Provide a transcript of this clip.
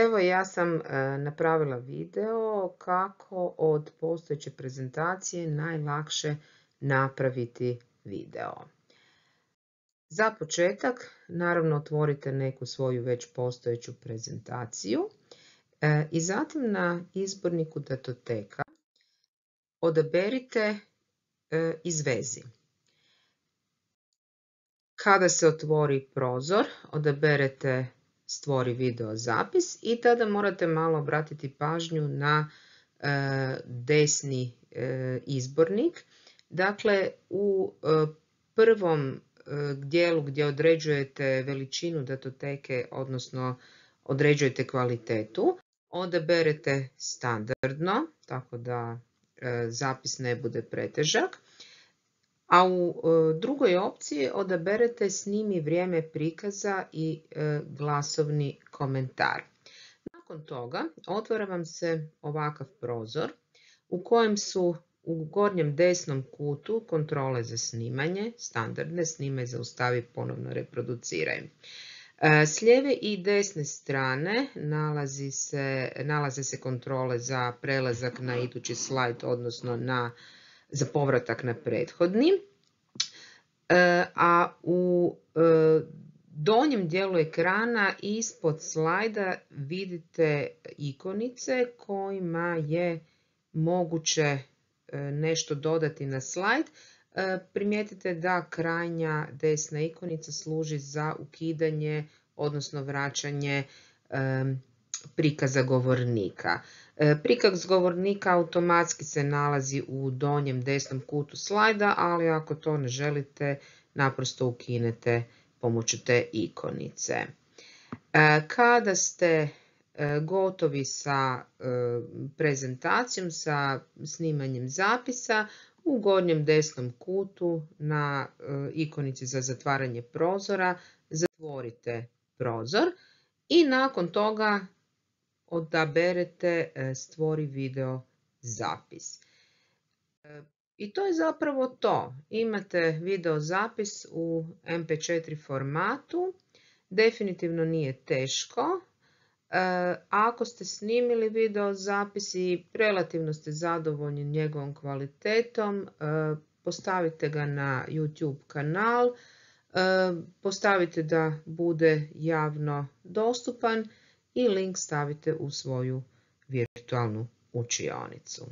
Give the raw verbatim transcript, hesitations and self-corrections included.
Evo ja sam e, napravila video kako od postojeće prezentacije najlakše napraviti video. Za početak naravno otvorite neku svoju već postojeću prezentaciju e, i zatim na izborniku datoteka odaberite e, izvezi. Kada se otvori prozor, odaberete stvori video zapis i tada morate malo obratiti pažnju na e, desni e, izbornik. Dakle, u e, prvom e, dijelu gdje određujete veličinu datoteke, odnosno određujete kvalitetu, odaberete standardno, tako da e, zapis ne bude pretežak. A u drugoj opciji odaberete snimi vrijeme prikaza i glasovni komentar. Nakon toga otvara vam se ovakav prozor u kojem su u gornjem desnom kutu kontrole za snimanje, standardne, snimaj, zaustavi, ponovno reproduciraj. S lijeve i desne strane nalazi se, nalaze se kontrole za prelazak na idući slajd, odnosno na za povratak na prethodni, a u donjem dijelu ekrana ispod slajda vidite ikonice kojima je moguće nešto dodati na slajd. Primijetite da krajnja desna ikonica služi za ukidanje, odnosno vraćanje prikaza govornika. Prikaz govornika automatski se nalazi u donjem desnom kutu slajda, ali ako to ne želite, naprosto ukinete pomoću te ikonice. Kada ste gotovi sa prezentacijom, sa snimanjem zapisa, u gornjem desnom kutu na ikonici za zatvaranje prozora zatvorite prozor i nakon toga odaberete stvori video zapis. I to je zapravo to. Imate video zapis u em pe četiri formatu. Definitivno nije teško. Ako ste snimili video zapis i relativno ste zadovoljni njegovom kvalitetom, postavite ga na YouTube kanal, postavite da bude javno dostupan i link stavite u svoju virtualnu učionicu.